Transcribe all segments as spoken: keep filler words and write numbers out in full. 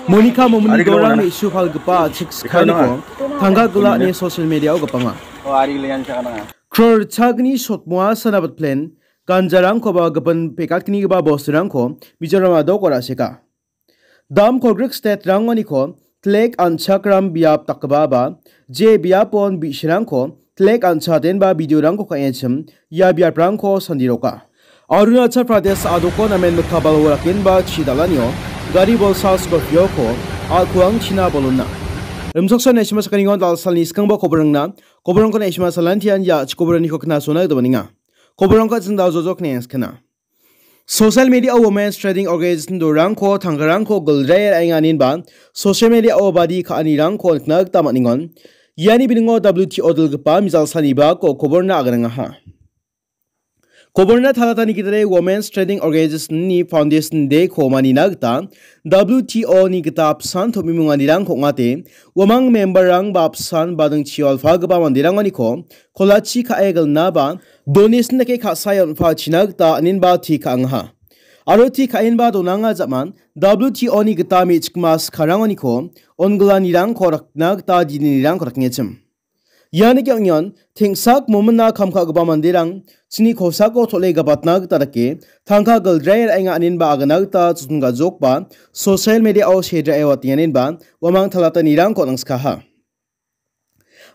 Monika Momini dorang me·su palgipa chik skaniko tangka gila ine social media-o gapanga. Crore chagni sotmoa sana batplen ganjarangkoba gipin pekatgnigipa bosturangko Mizoram adok ora·seka. Dam kolgrik state-rangoniko tlek an·chakram biap dakgipaba, je biapon bi·sirangko tlek an·chatenba video-rangko ka·echim ia biaprangko sandiroka. Arunachal Pradesh adoko namen mikabalo rakenba chi dal·anio gari bolsa Scorpio-ko a·kuangchina bolonna. Rimchaksoa naisima sakaningon dal·salni skangba koborangna, koborangko naisima salantian ia chikoboraniko knasona gita baninga. Koborangko chindao jojok ne skana. Social media-o Women's Trading Organization dorangko tangkarangko gilrae ra·enga aninba social media-o badi ka·anirangko nikna gita man·engon. Iani biningo W T O dilgipa mijal sanibako koborna aganangaha. Koborna talatani gitade Women's Trading Organization-ni Foundation Day-ko manina gita W T O-ni gita apsan tom·imonganirangko ong·ate, uamang member-rang ba apsan bading chiolpagipa manderangoniko kolachi ka·e gilnaba donation dake ka·sae on·pachina gita aninba ti ka·angaha. Aro ti ka·enba donanga ja·man W T O-ni gita me·chikma skarangoniko onggilanirangko rakna gita didinirangko rakengechim. Iani ge·onion teng·sak momina kam ka·gipa manderang chini kosako tol·e gapatna gita dake tangka gildrae ra·enga aninba agana gita chotton ga·jokba social media-o sedrae watenganinba uamang talatanirangko nangskaha.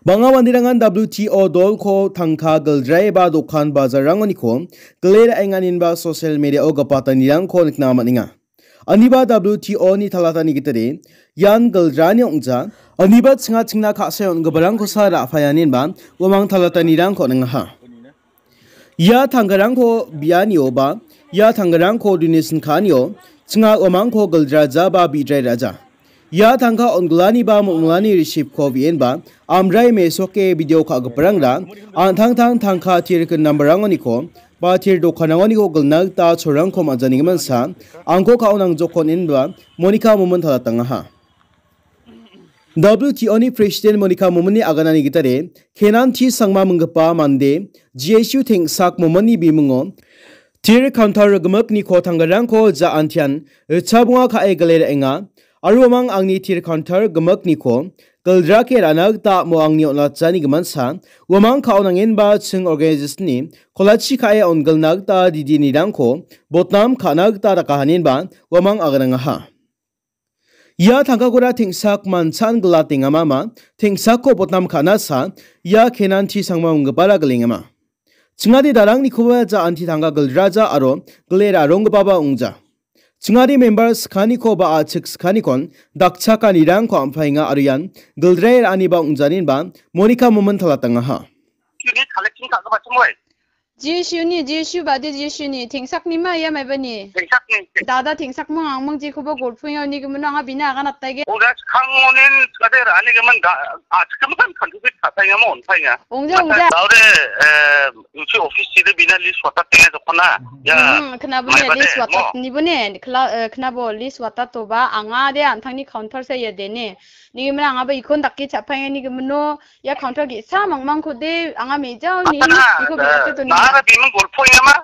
Bang·a manderangan W T O dolko tangka gildrae ba dokan bajarrangoniko gile ra·enganinba social media-o gapatanirangko nikna man·enga. Aniba W T O-ni talatani gitade ian gildrani ong·ja. Aniba chinga chingna ka·sae on·giparangkosa ra·payaninba uamang talatanirangko ningaha. Ia tangkarangko bianio ba ia tangkarangko donation ka·anio chinga uamangko gildraja ba bidrae ra·ja. Ia tangka on·gilani ba mong·milani receipt-ko bi·enba amrai mesoke video ka·giparangra an·tangtang tangka tirkin nambarangoniko ba tir dokanrangoniko gilna gita cholrangko man·janigimin sa angko ka·o nangjokon inba Monica Momin talatangaha. W T O-ni President Monica Mominni aganani gitade Kenan T Sangma minggipa mande G S U teng·sak Mominni bimingo tir counter gimikniko tangkarangko ja antian ritchabonga ka·e gile ra·enga. Aro uamang angni tir counter gimikniko gildrake ra·na gita amo angni on·atjani giminsa uamang ka·o nangenba ching organization-ni kolachi ka·e on·gilna gita didinirangko botnam ka·na gita dakahaninba uamang aganangaha. Ia tangkakora teng·sak manchan gilatengamama, teng·sakko botnam ka·nasa, ia Kenan T Sangma minggipara gilengama. Chingade darangnikoba ja anti tangka gildraja aro gile ra·ronggipaba ong·ja. Chingade member skaniko ba a·chik skanikon dakchakanirangko am·paenga aro ian gildrae ra·aniba ong·janinba Monica Momin talatangaha. G S U-ni, G S U bade G S U-ni, tengsaknima ia maibani? Tengsakni. Dada tengsakming angming jekoba golpoenga uni gimino anga bina agan attaige. Oda skang onin skade ra·ani gimin da, a, skang kan contribute ka·paengamo on·paenga. Ongja, ongja. Daode, eh, uchi office side bina list watatenga dokona. Ya. Hmm, kenabo ne maibade, list watat mo. Nibo ne, kla, eh, kenabo list watat toba, anga de antangni counter se ya dene. Ni gimino anga ba ikon dake cha·paenga ni gimino, ia counter ge·sa mangmangkode anga me·jaoni iko bidate donenga. Nara biming golpoengama?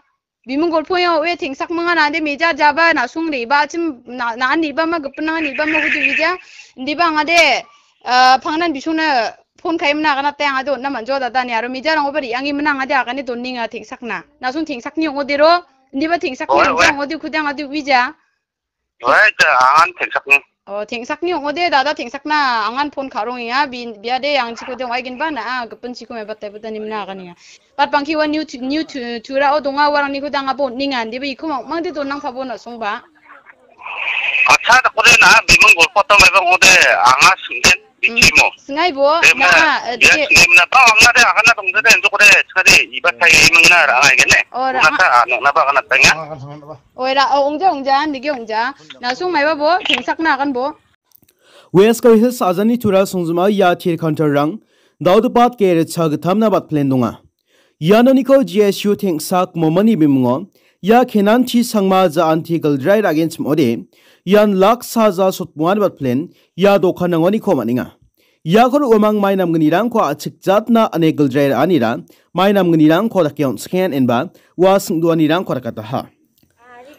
Biming golpoenga oe tengsakminga nade meja jaba nasung reba chim na, na an reba ma gipin nang reba ma gudu wija. Indiba anga de, ah, pangnan bisungna phone kaimna agana te anga de onna manjo dada ni aro meja rangoba ri·angimina anga de agane donenga tengsakna. Nasung tengsakni ong·odero. Indiba tengsakni ong·ode kude anga de wija. Wai, ta angan tengsakni. Oh, tengsakni ong·ode, dada tengsakna angan phone ka·rongenga, bi-, biade angchikode ong·aigenba na, ah, gipin chiko mebatai buta nimna aganenga. Pat bangki ua new tu-, new tu-, turao donga uarangni kuda anga bon ninga, indiba iko mang-, mangde donang pabo na songba. Acha, dakode na, biming golpo ta maibang ode, anga sungden. Bichimo. Singaibo, na, eh, ya, dike. Singimna ba, angna de, agana dongde de, enjok de, chade, iba tai imingna ra, agene. Oh, ra. Una ta, ano, na ba, agana tanya. Oira, oh, ongja, ongja, nige ongja. Nasung maiba bo, tengsakna agan bo. West Khasi Hills ajani tura songjima ia tir counter-rang, daudopat ke ritcha gittamna bat plan donga. Ianoniko G S U teng·sak momani bimungo, ia Kenan T Sangma ja anti gildrai ra·genchim ong·ode, ian lak saja sotbongan bat plan, ia dokanrangoniko man·enga. Iakoro uamang mai namgnirangko a·chik jatna ane gildrai ra·anira, mai namgnirangko dake on·skengen enba, ua singdoanirangko dakataha.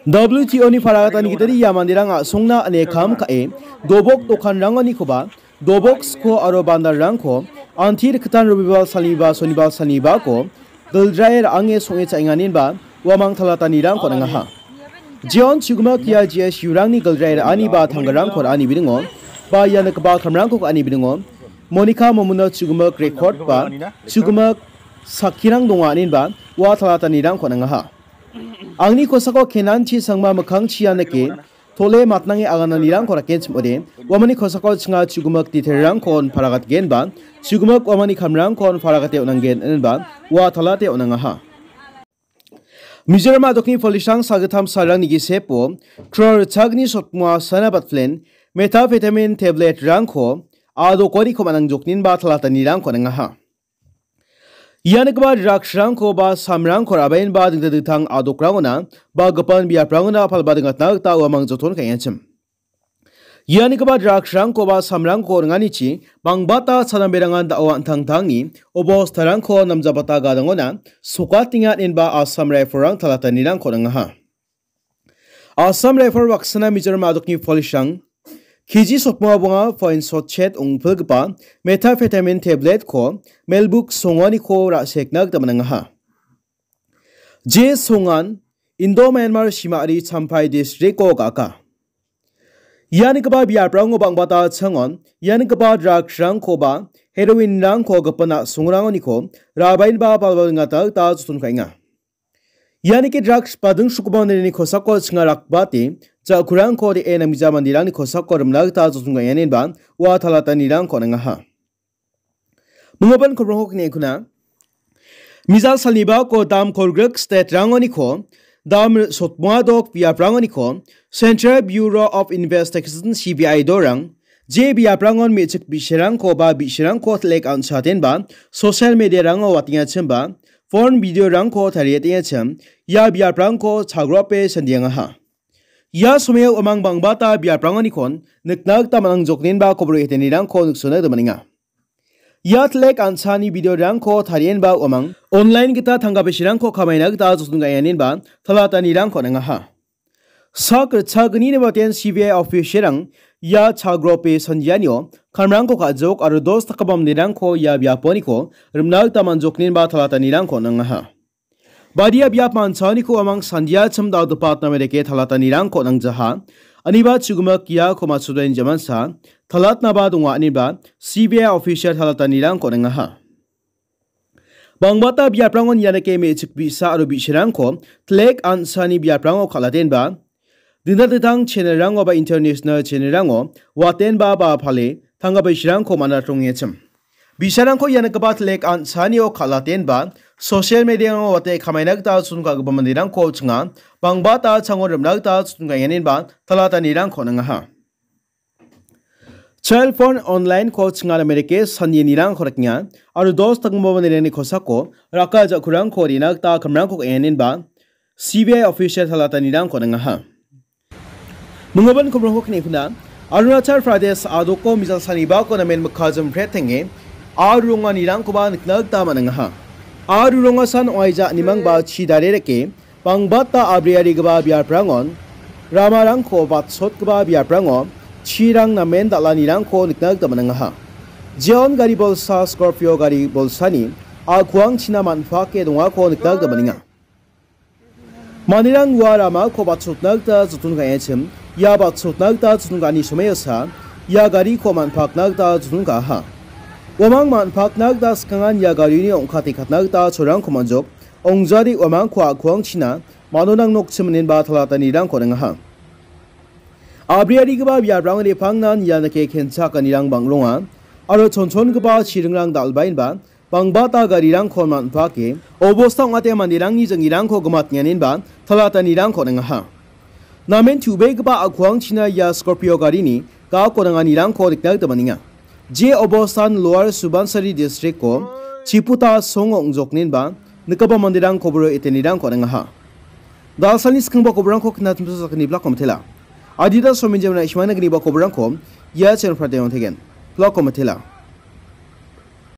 W T O-ni paragatani gitade ia manderang a·songna ine kam ka·e, dobok dokanrangonikoba, dobok sko aro bandarrangko anti rikgitan Robibar salniba, Sonibar salnibako giljae ra·ange song·e cha·enganinba uamang talatanirangko on·angaha. Jeon chugimak ia G S U-rangni giljae ra·ani ba tanggarangko ra·ani biningo ba ia nikgipa kamrangko ka·ani biningo Monica Momono chugimak rekord ba chugimak sakkirang donga aninba ua talatanirangko on·angaha. Angni kosako Kenan Chi Sangma mikkangchi ia nike tole matnange agananirangko rakenchim ode, uamani kosako chinga chugimak detail-rangkon paragatgenba, chugimak uamani kamrangkon paragate on·angen inenba ua talate on·angaha. Mizoram a·dokni police-rang sagittam salrangni gisepo, crore ritchagni sotmoa sana batplen, methamphetamine tablet-rangko a·dokoniko man·angjokninba talatanirangko on·angaha. Ia nikgipa drugs-rangko ba samrangko ra·baenba dingtang dingtang a·dokrangona ba gipin biaprangona palba dingtna gita uamang joton ka·engachim. Ia nikgipa drugs-rangko ba samrangko ringanichi bangbata chanamberangan da·o an·tangtangni obostarangko namjabata gadangona sokatenga inenba Assam Rifle-rang talatanirangko on·angaha. Assam Rifle baksana Mizoram a·dokni police-rang K G sotmoa bonga point sotchet ong·pilgipa methamphetamine tablet-ko melbuk songaniko ra·sekna gita man·angaha. Je songan Indo-Myanmar Simari Champhai district-o ga·aka. Ia nikgipa biaprango bangbata changon ia nikgipa drugs-rangkoba heroin-rangko gipin a·songrangoniko ra·baenba palba dingtna gita joton ka·enga. Ia nike drugs bading sukgipa manderangni kosako chinga rakbate, ja·kurangko re·e namgija manderangni kosako rimna gita joton ka·enga inenba ua talatanirangko on·angaha. Minggipa kobrongko kine kuna. Mizal salnibako dam kolgrik state-rangoniko dam sotmoa dok biaprangoniko Central Bureau of Investigation, C B I dorang je biaprangon me·chik bi·sarangko ba bi·sarangko telek an·chatenba social media-rango watengachimba phone video-rangko tarietengachim ia biaprangko chagrope sandiangaha. Ia somao uamang bangbata biaprangonikon nikna gita man·angjoknenba kobor etenirangko niksona gita man·enga. Ia telek an·chani video-rangko tarienba uamang online gita tangka bisirangko kamaina gita joton ka·enganinba talatanirangko on·angaha. Sak ritchagni nibaten C B I official-rang ia chagrope sandianio kamrangko ka·jok aro dos dakgipa manderangko ia biaponiko rimna gita man·joknenba talatanirangko on·angaha. Badia biap manchaoniko uamang sandiachim dal·gipa atna medeke talatanirangko on·angjaha. Aniba chugimak iako matchotani jamansa talatnaba donga aniba C B I official talatanirangko on·angaha. Bangbata biaprangon ianike me·chik bi·sa aro bi·sarangko telek an·chani biaprango kal·atenba, dingtang dingtang channel-rango ba international channel-rango watenba ba pale tangka bisirangko man·atrongengachim. Bisarangko ianikoba telek an·chanio kal·atenba social media-rango wate kamaina gita joton ka·gipa manderangko chinga bangbata chango rimna gita joton ka·enganinba talatanirangko on·angaha. Cell phone online-ko chingara mereke sandianirangko rakenga aro dos dakgipa manderangni kosako raka ja·kurangko re·na gita kamrangko ka·enganinba C B I official talatanirangko on·angaha. Minggipa kobrongko kine kuna, Arunachal Pradesh a·doko mizal sanibako namen mikka jimprete aro ronganirangkoba nikna gita man·angaha. Aro rongasan ong·aija animangba chi dare rike, bangbata abriarigipa biaprangon, ramarangko batsotgipa biaprango chirang namen dal·anirangko nikna gita man·angaha. Jeon gari bolsa, Scorpio gari bolsani a·kuangchina man·pake dongako nikna gita man·enga. Manderang ua ramako batsotna gita joton ka·engachim, ia batsotna gita joton ka·ani somoiosa ia gariko man·pakna gita joton ka·aha. Uamang man·pakna gita skangan ia garini ong·kate katna gita cholrangko man·jok, ongjari uamangko a·kuangchina manonang nokchim inenba talatanirangko on·angaha. Abriarigipa biaprangni pangnan ianike kenchakanirang bang·ronga, aro chonchongipa chiringrang dal·baenba bangbata garirangko man·pake, obosta ong·ate manderangni jang·irangko gimatenganinba talatanirangko on·angaha. Namen tu·begipa a·kuangchina ia Scorpio garini gako nanganirangko nikna gita man·enga. Je obostan Lower Subansiri district-o Chiputa songo ong·joknenba nikgipa manderang koboro etenirangko on·angaha. Dalsalni skangba koborangko knatimsa sakgni blako mitela. Adita sominjamna ishmana gniba koborangko ia channel prateng on·tegen. Blako mitela.